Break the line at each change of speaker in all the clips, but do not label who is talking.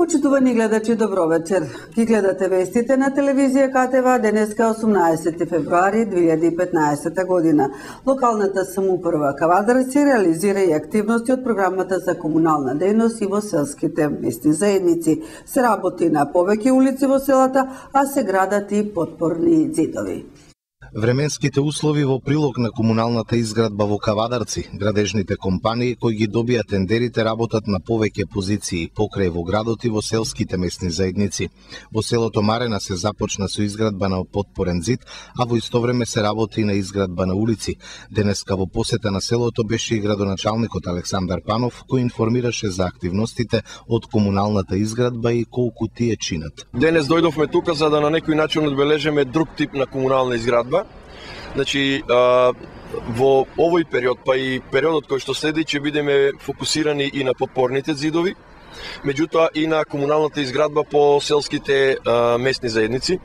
Почитувани гледачи, добро вечер. Ки гледате вестите на телевизија КТВ, денеска 18 февруари 2015 година. Локалната самоуправа Кавадарци реализира и активности од програмата за комунална дејност и во селските местни заедници. Се работи на повеќе улици во селата, а се градат и потпорни ѕидови.
Временските услови во прилог на комуналната изградба во Кавадарци, градежните компании кои ги добија тендерите работат на повеќе позиции покрај во градот и во селските местни заедници. Во селото Марена се започна со изградба на потпорен ѕид, а во исто време се работи на изградба на улици. Денеска во посета на селото беше и градоначалникот Александар Панов, кој информираше за активностите од комуналната изградба и колку тие чинат.
Денес дојдовме тука за да на некој начин одбележиме друг тип на комунална изградба. Значи, во овој период, па и периодот кој што следи, ќе бидеме фокусирани и на потпорните ѕидови, меѓутоа и на комуналната изградба по селските местни заедници.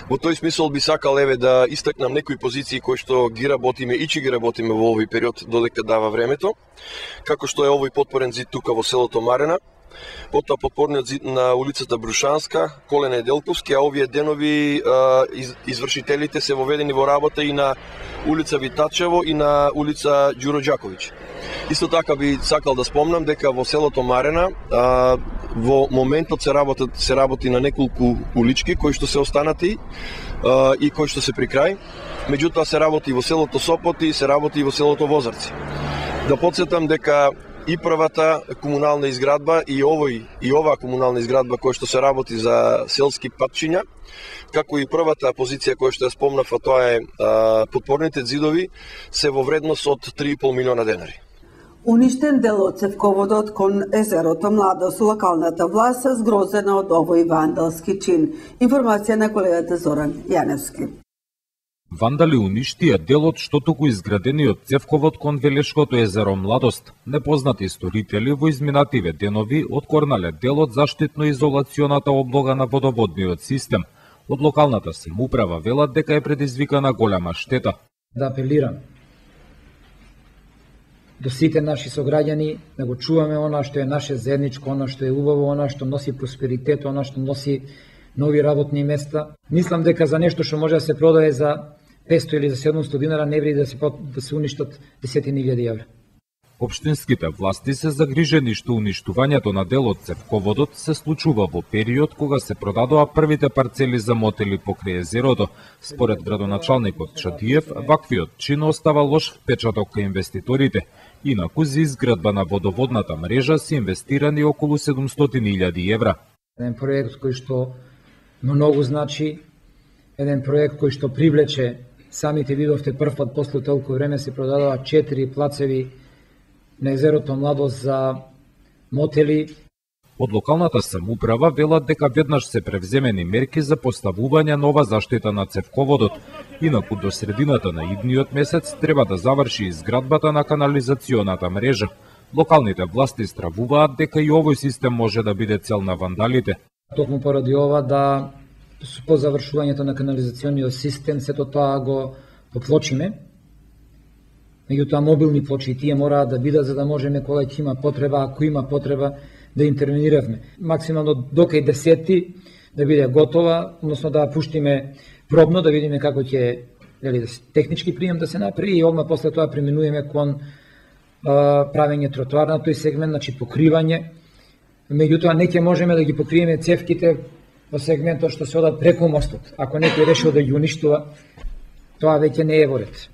Во тој смисол би сакал да истакнам некои позиции кои што ги работиме и ќе ги работиме во овој период додека дава времето, како што е овој потпорен ѕид тука во селото Марена, потоа потпорниот ѕид на улицата Брушанска, Колен Неделковски, а овие денови извршителите се воведени во работа и на улица Витачево и на улица Ѓуро Ѓаковиќ. Исто така би сакал да спомнам дека во селото Марена во моментот се работи на неколку улички кои што се останати и кои што се при крај. Меѓутоа се работи и во селото Сопоти, се работи и во селото Возарци. Да потсетам дека и првата комунална изградба и оваа комунална изградба која што се работи за селски патчиња, како и првата позиција која што ја спомнав, а тоа е потпорните ѕидови, се во вредност од 3,5 милиона денари.
Уништен дел од цевководот кон езерото Младост, локалната власт згрозена од овој вандалски чин. Информација на колегата Зоран Јаневски.
Вандали уништија делот што туку изградениот цевковод кон Велешкото езеро Младост. Непознати сторители во изминативе денови откорнале делот заштитно-изолационата облога на водоводниот систем. Од локалната самоуправа велат дека е предизвикана голема штета.
Да апелирам до сите наши сограѓани да го чуваме она што е наше заедничко, она што е убаво, она што носи просперитет, она што носи нови работни места. Мислам дека за нешто што може да се продае за 500 или за 700 динара не вреди да се уништат десетини илјади евра.
Општинските власти се загрижени што уништувањето на делот цевководот се случува во период кога се продадоа првите парцели за мотели покрај езерото. Според градоначалникот Чадиев, ваквиот чин остава лош впечаток кај инвеститорите. Инаку за изградба на водоводната мрежа се инвестирани околу 700.000 евра.
Еден проект кој што многу значи, еден проект кој што привлече, самите видовте прв пат после толку време се продадоа 4 плацеви на езерото Младост за мотели.
Од локалната самоуправа велат дека веднаш се превземени мерки за поставување нова заштита на цевководот. Инаку до средината на идниот месец треба да заврши изградбата на канализационата мрежа. Локалните власти стравуваат дека и овој систем може да биде цел на вандалите.
Токму поради ова да по завршувањето на канализациониот систем сето тоа го поплочиме. Меѓутоа мобилни плочи тие мораат да бидат за да можеме кога ќе има потреба, ако има потреба да интервенираме. Максимално до кај 10 да биде готова, односно да пуштиме пробно да видиме како ќе технички прием да се направи и одма после тоа преминуваме кон правење тротоар на тој сегмент, значи покривање. Меѓутоа не ќе можеме да ги покриеме цевките во сегментот што се одат преку мостот. Ако некој решил да ги уништува, тоа веќе не е во ред.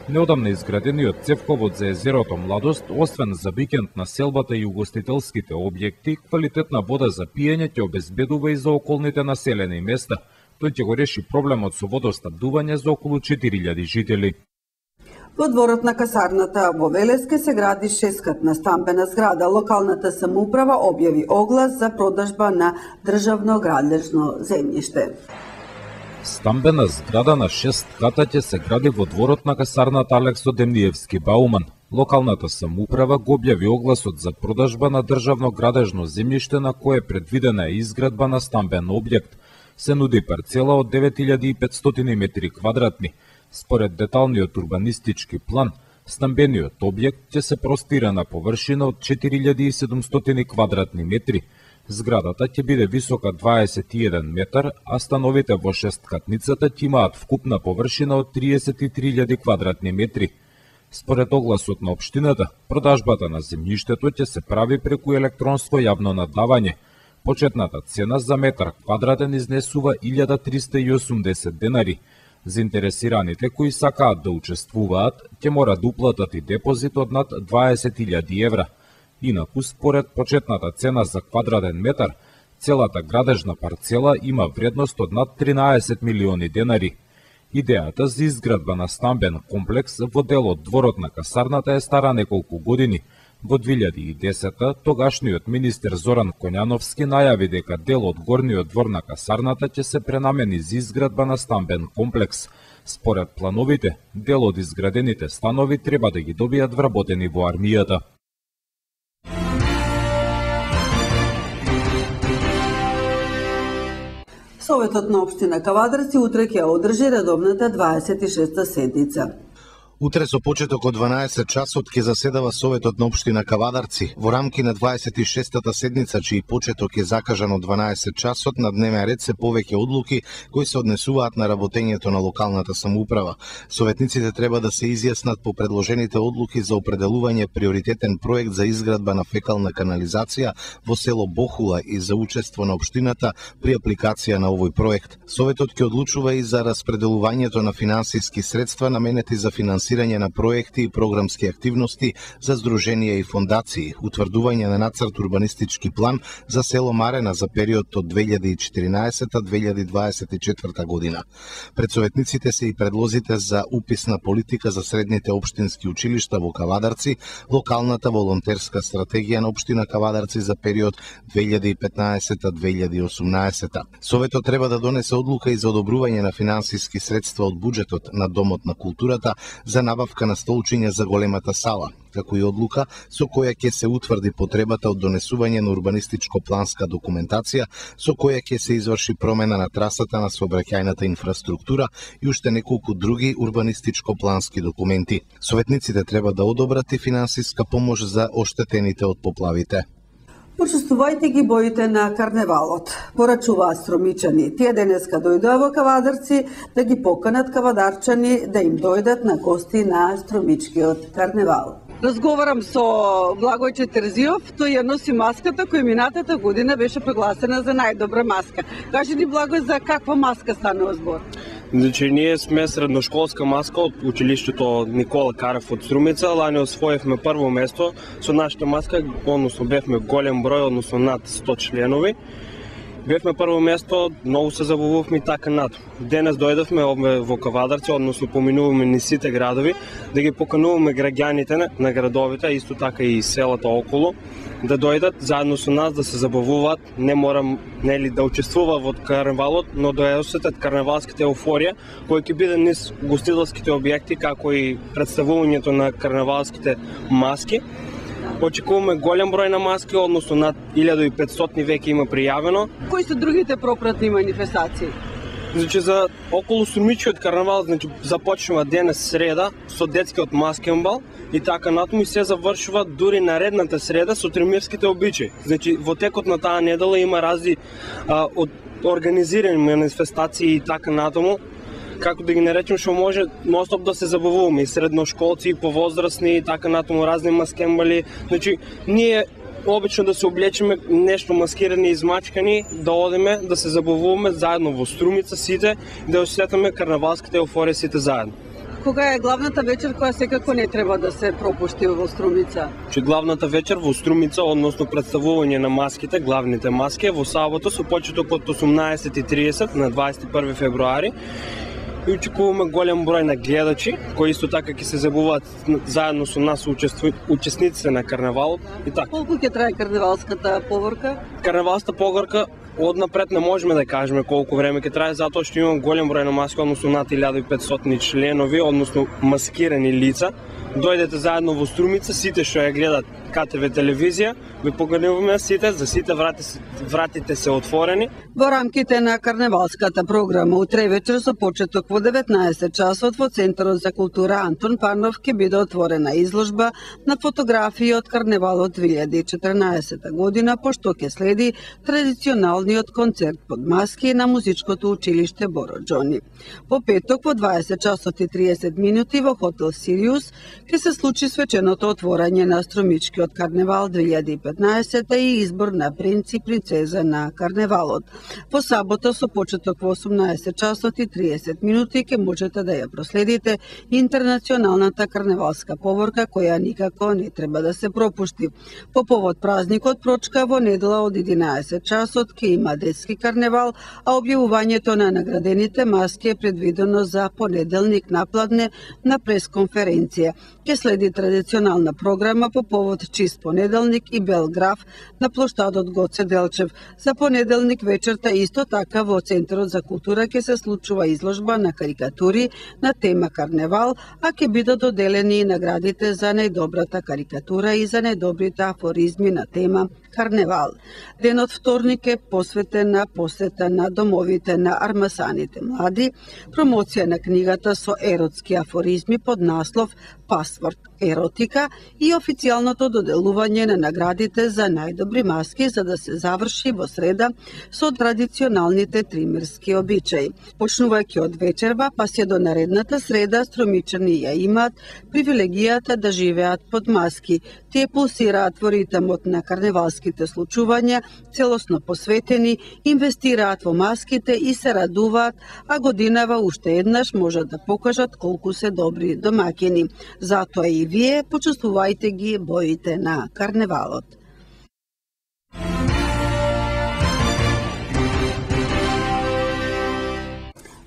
Неодамна изградениот цевковод за езерото Младост, освен за викенд населбата и угостителските објекти, квалитетна вода за пиење ќе обезбедува и за околните населени места. Тој ќе го реши проблемот со водоснабдување за околу 4000 жители.
Во дворот на касарната во Велеске се гради 6-катна стамбена зграда. Локалната самоуправа објави оглас за продажба на државно градежно земјиште.
Стамбена зграда на 6 ката ќе се гради во дворот на касарната Алексо Демниевски Бауман. Локалната самоуправа го објави огласот за продажба на државно градежно земјиште на кое е предвидена изградба на стамбен објект. Се нуди парцела од 9500 метри квадратни. Според деталниот урбанистички план, стамбениот објект ќе се простира на површина од 4700 квадратни метри. Зградата ќе биде висока 21 метар, а становите во шесткатницата ќе имаат вкупна површина од 33.000 квадратни метри. Според огласот на општината, продажбата на земјиштето ќе се прави преку електронско јавно наддавање. Почетната цена за метар квадратен изнесува 1380 денари. Заинтересираните кои сакаат да учествуваат, ќе мора да уплатат и депозит од над 20.000 евра. Инаку, според почетната цена за квадратен метар, целата градежна парцела има вредност од над 13 милиони денари. Идејата за изградба на стамбен комплекс во делот дворот на касарната е стара неколку години. Во 2010 тогашниот министер Зоран Коњановски најави дека дел од горниот двор на касарната ќе се пренамени за изградба на стамбен комплекс. Според плановите, дел од изградените станови треба да ги добијат вработени во армијата.
Советот на општина Кавадарци утре ќе одржи редовната 26-та седница.
Утре со почеток од 12 часот ќе заседава Советот на општина Кавадарци. Во рамки на 26-та седница, чиј почеток е закажан од 12 часот, на дневен ред се повеќе одлуки кои се однесуваат на работењето на локалната самоуправа. Советниците треба да се изјаснат по предложените одлуки за определување приоритетен проект за изградба на фекална канализација во село Бохула и за учество на општината при апликација на овој проект. Советот ќе одлучува и за распределувањето на финансиски средства наменети за финансирање на проекти и програмски активности за здруженија и фондации, утврдување на нацрт урбанистички план за село Марена за период од 2014-2024 година. Пред советниците се и предлозите за уписна политика за средните општински училишта во Кавадарци, локалната волонтерска стратегија на општина Кавадарци за период 2015-2018. Советот треба да донесе одлука и за одобрување на финансиски средства од буџетот на Домот на културата за набавка на столчиња за големата сала, како и одлука со која ќе се утврди потребата од донесување на урбанистичко-планска документација, со која ќе се изврши промена на трасата на сообраќајната инфраструктура и уште неколку други урбанистичко-плански документи. Советниците треба да одобрат и финансиска помош за оштетените од поплавите.
Почувствувајте ги боите на карневалот. Порачуваат стромичани. Тие денеска дојдоа во Кавадарци да ги поканат кавадарчани да им дојдат на гости на стромичкиот карневал. Разговарам со Благојче Терзиов, тој ја носи маската која минатата година беше прогласена за најдобра маска. Кажи ни, Благој, за каква маска станува збор?
Значи, ние сме средношколска маска од училиштето Никола Карев од Струмица. Лани освоевме прво место со нашата маска, односно бевме голем број, односно над 100 членови. Бевме прво место, многу се забавувавме и така над. Денес дојдовме во Кавадарци, односно поминуваме ни сите градови, да ги покануваме граѓаните на градовите, исто така и селата околу, да дојдат заедно со нас да се забавуваат, не морам да учествува во карневалот, но да ја осетат карневалската еуфорија, која ќе биде низ гостителските објекти, како и представувањето на карневалските маски. Очекуваме голем број на маски, односно над 1500 веќе има пријавено.
Кои се другите пропратни манифестации?
Значи, за околу Струмичкиот карнавал, значи, започнува денес среда со детскиот маскенбал и така натаму и се завршува дури наредната среда со тремирските обичаи. Значи, во текот на таа недела има разни организирани манифестации и така натаму, како да ги наречем, што може ностоп да се забавуваме, и средношколци, и повозрастни, и така натаму разни маскенбали. Значи, ние обично да се облечеме нешто маскирани и измачкани, да одиме, да се забавуваме заедно во Струмица сите, да осетаме карнавалската еуфорија сите заедно.
Кога е главната вечер која секако не треба да се пропушти во Струмица?
Че главната вечер во Струмица, односно представување на маските, главните маски, во сабота со почеток од 18:30 на 21 февруари. И очекуваме голем број на гледачи, кои исто така ќе се забавуваат заедно со нас учесниците на карнавалот и така.
Колку ќе трае карнавалската погорка?
Карнавалската погорка однапред не можеме да кажеме колку време ќе трае, затоа што имам голем број на маски, односно над 1500 членови, односно маскирани лица. Дојдете заедно во Струмица, сите што ја гледат КТВ телевизија ви покануваме за сите вратите се отворени.
Во рамките на карневалската програма утре вечер со почеток во 19 часот во Центарот за култура Антон Парнов ќе биде отворена изложба на фотографии од карневалот 2014 година, пошто ќе следи традиционалниот концерт под маски на музичкото училиште Боро Џони. Во петок во 20 часот и 30 минути во хотел Сириус ќе се случи свеченото отворање на Струмичкиот карневал 2015 и избор на принц и принцеза на карневалот. Во сабота со почеток во 18 часот и 30 минути ќе можете да ја проследите интернационалната карневалска поворка која никако не треба да се пропушти. По повод празникот Прочка во недела од 11 часот ќе има детски карневал, а објавувањето на наградените маски е предвидено за понеделник напладне на пресконференција. Ќе следи традиционална програма по повод Чист понеделник и Белграф на плоштадот Гоце Делчев. За понеделник вечерта исто така во Центарот за култура ќе се случува изложба на карикатури на тема карневал, а ќе бидат доделени и наградите за најдобрата карикатура и за најдобрите афоризми на тема карневал. Денот вторник е посветен на посета на домовите на армасаните млади, промоција на книгата со еротски афоризми под наслов Пасворд еротика и официјалното доделување на наградите за најдобри маски за да се заврши во среда со традиционалните тримерски обичаи. Почнувајќи од вечерва па се до наредната среда, струмичани ја имаат привилегијата да живеат под маски. Тие пулсираат во ритмот на карневалските случувања, целосно посветени, инвестираат во маските и се радуваат, а годинава уште еднаш можат да покажат колку се добри домаќини. Затоа и вие почувствувајте ги боите на карневалот.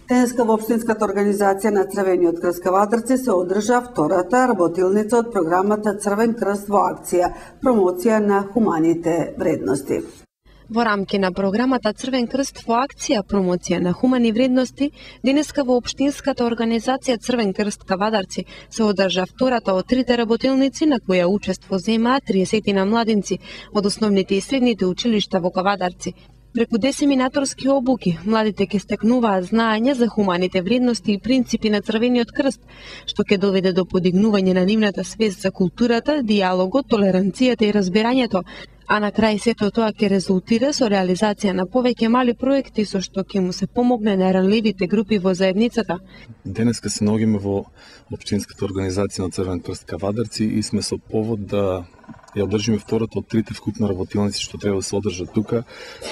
Денеска во Општинската организација на Црвениот крст Кавадарци се одржа втората работилница од програмата Црвен крст во акција, промоција на хуманите вредности.
Во рамки на програмата Црвен крст во акција промоција на хумани вредности, денеска во Општинската организација Црвен крст Кавадарци се одржа втората од трите работилници на која учество земаа 30 на младинци од основните и средните училишта во Кавадарци. Преку десеминаторски обуки, младите ќе стекнуваат знаење за хуманите вредности и принципи на Црвениот крст, што ќе доведе до подигнување на нивната свест за културата, диалогот, толеранцијата и разбирањето, а на крај сето тоа ќе резултира со реализација на повеќе мали проекти со што ќе му се помогне на ранливите групи во заедницата.
Денеска се наоѓаме во Општинската организација на Црвен крст Кавадарци и сме со повод да ја одржиме втората од трите вкупна работилници што треба да се одржат тука,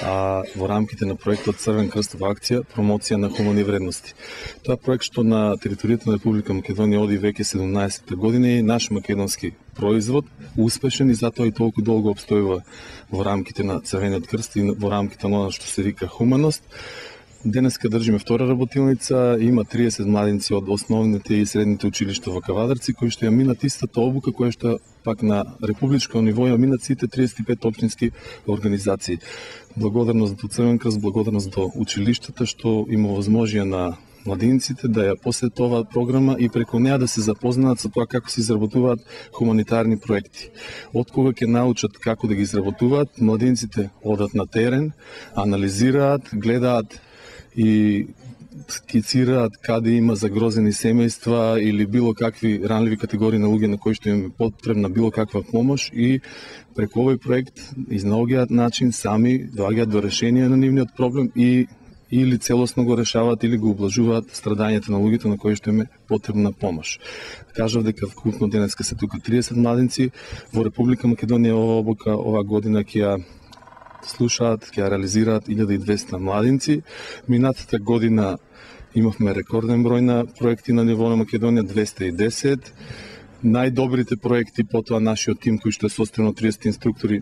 во рамките на проектот Црвен крст во акција, промоција на хумани вредности. Тоа проект што на територијата на Република Македонија оди веќе 17 година е наш македонски производ, успешен и затоа и толку долго обстојува во рамките на Црвениот крст и во рамките на она што се вика хуманост. Денеска држиме втора работилница, има 30 младинци од основните и средните училишта во Кавадарци кои што ја минат истата обука која што пак на републичко ниво ја минат сите 35 општински организации. Благодарност до Црвен крст, благодарност до училиштата што има возможија на младинците да ја посетат оваа програма и преку неа да се запознаат со тоа како се изработуваат хуманитарни проекти. Од кога ќе научат како да ги изработуваат, младинците одат на терен, анализираат, гледаат и скицираат каде има загрозени семејства или било какви ранливи категории на луѓе на кои што им е потребна било каква помош и преку овој проект изнаоѓаат начин сами доаѓаат до решение на нивниот проблем и или целосно го решаваат или го ублажуваат страдањето на луѓето на кои што им е потребна помош. Кажав дека вкупно денеска се тука 30 младинци во Република Македонија ова обука оваа година ќе ја слушаат, ќе ја реализираат 1200 младинци. Минатата година имавме рекорден број на проекти на ниво на Македонија, 210. Најдобрите проекти, потоа нашиот тим кој што е состојан од 30 инструктори,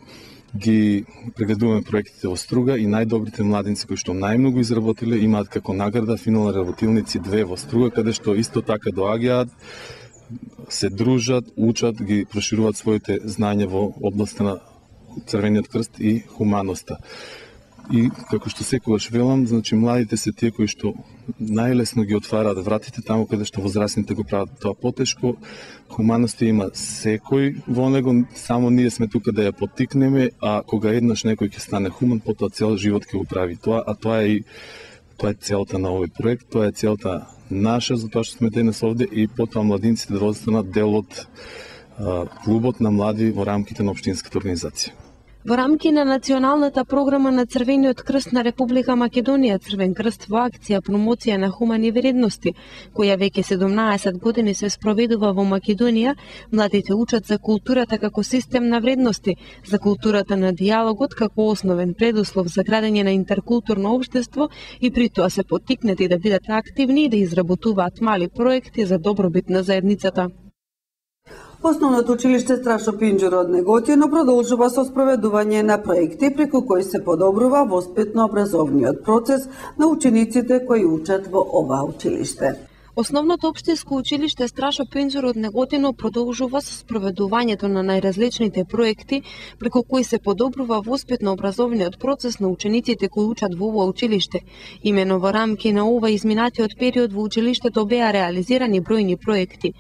ги прегледуваме проектите во Струга и најдобрите младинци кои што најмногу изработиле имаат како награда финални работилници 2 во Струга, каде што исто така доаѓаат, се дружат, учат, ги прошируваат своите знања во областта на Црвениот крст и хуманоста. И како што секогаш велам, значи младите се тие кои што најлесно ги отвараат вратите таму каде што возрастните го прават тоа потешко. Хуманоста има секој во него, само ние сме тука да ја поттикнеме, а кога еднаш некој ќе стане хуман, потоа цел живот ќе го прави тоа, а тоа е целта на овој проект, тоа е целта наша за тоа што сме денес овде и потоа младинците да останат дел од клубот на млади во рамките на општинската организација.
Во рамки на националната програма на Црвениот крст на Република Македонија, Црвен крст во акција промоција на хумани вредности, која веќе 17 години се спроведува во Македонија, младите учат за културата како систем на вредности, за културата на диалогот како основен предуслов за градење на интеркултурно општество и при тоа се поттикнати да бидат активни и да изработуваат мали проекти за добробит на заедницата.
Основното училиште Страшо Пинџур од Неготино продолжува со спроведување на проекти преку кои се подобрува воспитно-образовниот процес на учениците кои учат во ова училиште.
Основното општинско училиште Страшо Пинџур од Неготино продолжува со спроведувањето на најразличните проекти преку кои се подобрува воспитно-образовниот процес на учениците кои учат во ова училиште. Имено во рамки на ова изминатиот период во училиштето беа реализирани бројни проекти.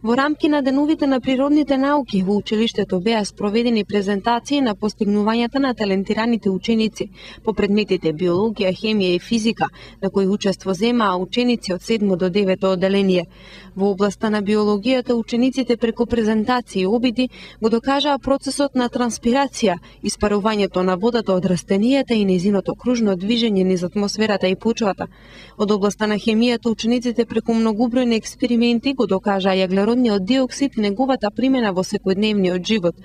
Во рамки на деновите на природните науки во училиштето беа спроведени презентации на постигнувањата на талентираните ученици по предметите биологија, хемија и физика, на кои учество земаа ученици од 7 до 9 одделение. Во областа на биологијата учениците преку презентации и обиди го докажаа процесот на транспирација, испарувањето на водата од растенијата и нејзиното кружно движење низ атмосферата и почвата. Од областа на хемијата учениците преку многубројни експерименти го докажаа јаглеродниот диоксид и неговата примена во секојдневниот живот.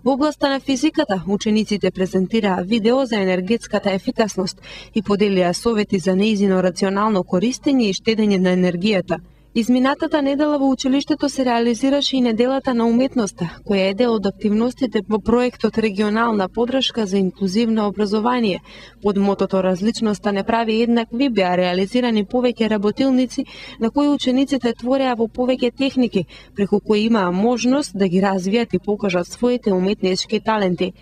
Во областа на физиката учениците презентираа видео за енергетската ефикасност и поделија совети за нејзино рационално користење и штедење на енергијата. Изминатата недела во училиштето се реализираше и неделата на уметноста, која е дел од активностите во проектот Регионална подршка за инклузивно образование. Под мотото Различноста не прави еднакви беа реализирани повеќе работилници на кои учениците твореа во повеќе техники, преку кои имаа можност да ги развијат и покажат своите уметнички таленти.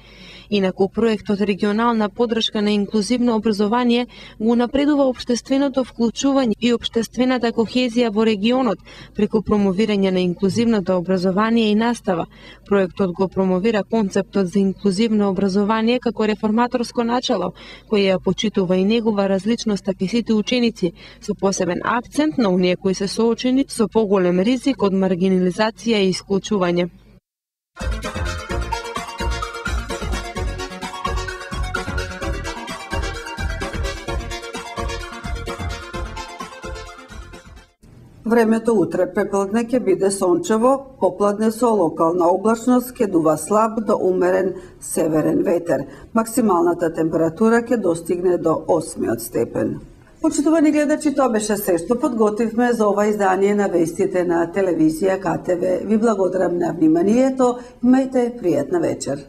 Инаку проектот Регионална подршка на инклузивно образование го напредува општественото вклучување и општествената кохезија во регионот преку промовирање на инклузивното образование и настава. Проектот го промовира концептот за инклузивно образование како реформаторско начало, кој ја почитува и негова различноста кај сите ученици, со посебен акцент на оние кои се соочени со поголем ризик од маргинализација и исклучување.
Времето утре препладне ќе биде сончево, попладне со локална облачност, ќе дува слаб до умерен северен ветер. Максималната температура ќе достигне до 8 степен. Почитувани гледачи, тоа беше се што подготвивме за ова издание на вестите на телевизија КТВ. Ви благодарам на вниманието, имајте пријатна вечер.